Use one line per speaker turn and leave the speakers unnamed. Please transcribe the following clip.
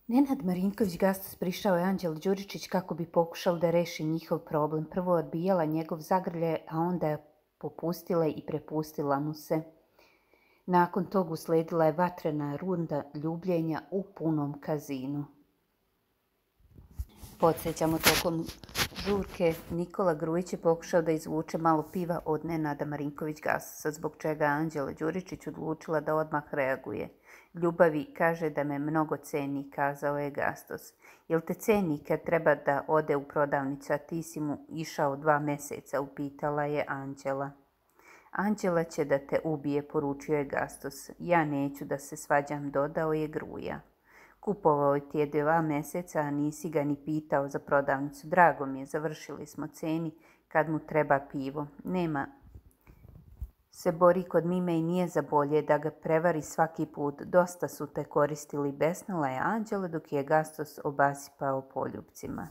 Nenad Marinković-Gastos prišao je Anđeli Đuričić kako bi pokušao da reši njihov problem. Prvo je odbijala njegov zagrljaj, a onda je popustila i prepustila mu se. Nakon toga usledila je vatrena runda ljubljenja u punom kazinu. Podsjećamo, tokom žurke Nikola Grujić je pokušao da izvuče malo piva od Nenada Marinković-Gastosa, zbog čega je Anđela Đuričić odlučila da odmah reaguje. Ljubavi kaže da me mnogo ceni, kazao je Gastos. Jel te ceni kad treba da ode u prodavnicu, a ti si mu išao 2 meseca, upitala je Anđela. Anđela će da te ubije, poručio je Gastos. Ja neću da se svađam, dodao je Gruja. Kupovao ti je 2 meseca, a nisi ga ni pitao za prodavnicu. Drago mi je, završili smo, ceni kad mu treba pivo. Nema se bori kod Mime i nije za bolje da ga prevari svaki put. Dosta su te koristili, besnala je Anđela dok je Gastos obasipao poljupcima.